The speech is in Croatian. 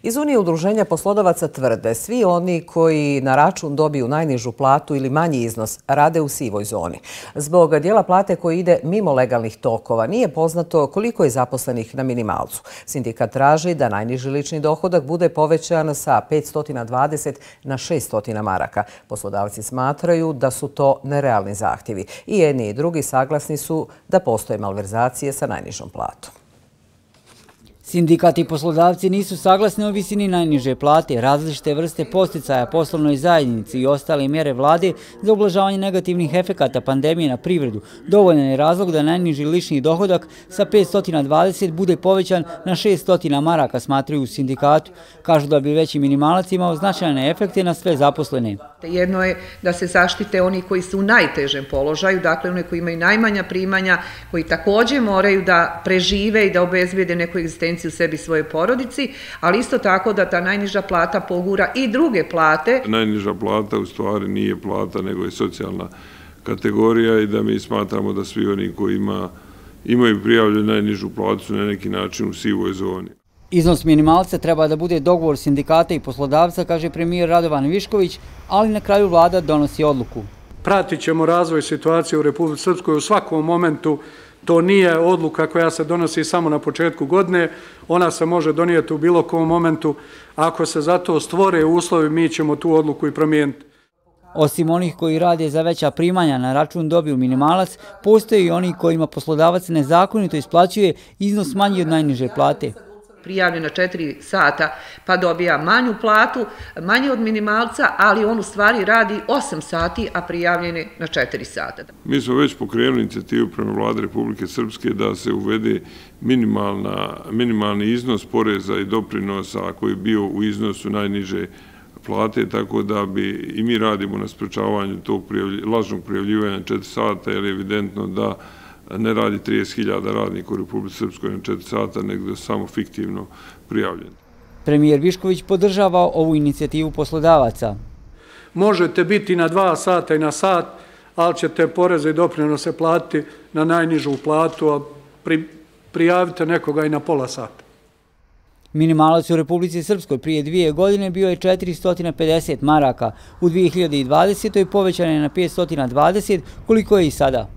Iz Unije udruženja poslodavaca tvrde svi oni koji na račun dobiju najnižu platu ili manji iznos rade u sivoj zoni. Zbog dijela plate koji ide mimo legalnih tokova nije poznato koliko je zaposlenih na minimalcu. Sindikat traži da najniži lični dohodak bude povećan sa 520 na 600 maraka. Poslodavci smatraju da su to nerealni zahtjevi. I jedni i drugi saglasni su da postoje malverzacije sa najnižom platom. Sindikat i poslodavci nisu saglasni o visini najniže plate, različite vrste podsticaja poslovnoj zajednici i ostale mjere vlade za ublažavanje negativnih efekata pandemije na privredu. Dovoljan je razlog da najniži lični dohodak sa 520 bude povećan na 600 maraka, smatraju u sindikatu. Kažu da bi veći minimalac imao značajne efekte na sve zaposlene. Jedno je da se zaštite oni koji su u najtežem položaju, dakle oni koji imaju najmanja primanja, koji također moraju da prežive i da obezbijede neku egzistenciju u sebi svoje porodici, ali isto tako da ta najniža plata pogura i druge plate. Najniža plata u stvari nije plata, nego je socijalna kategorija i da mi smatramo da svi oni koji imaju prijavljenu najnižu platu su na neki način u sivoj zoni. Iznos minimalca treba da bude dogovor sindikata i poslodavca, kaže premijer Radovan Višković, ali na kraju vlada donosi odluku. Pratit ćemo razvoj situacije u Republici Srpskoj u svakom momentu. To nije odluka koja se donosi samo na početku godine, ona se može donijeti u bilo kom momentu. Ako se za to stvore uslovi, mi ćemo tu odluku i promijeniti. Osim onih koji rade za veća primanja na račun dobiju minimalac, postoje i oni kojima poslodavac nezakonito isplaćuje iznos manji od najniže plate. Prijavljen na 4 sata pa dobija manju platu, manje od minimalca, ali on u stvari radi 8 sati, a prijavljen je na 4 sata. Mi smo već pokrenuli inicijativu prema vlade Republike Srpske da se uvede minimalni iznos poreza i doprinosa koji je bio u iznosu najniže plate, tako da bi i mi radimo na sprečavanju tog lažnog prijavljivanja 4 sata, jer je evidentno da ne radi 30.000 radnika u Republici Srpskoj na 4 sata, nego samo fiktivno prijavljeni. Premijer Višković podržava ovu inicijativu poslodavaca. Možete biti na 2 sata i na sat, ali ćete poreze i doprinose platiti na najnižu platu, a prijavite nekoga i na pola sata. Minimalac u Republici Srpskoj prije 2 godine bio je 450 maraka. U 2020. povećan je na 520, koliko je i sada.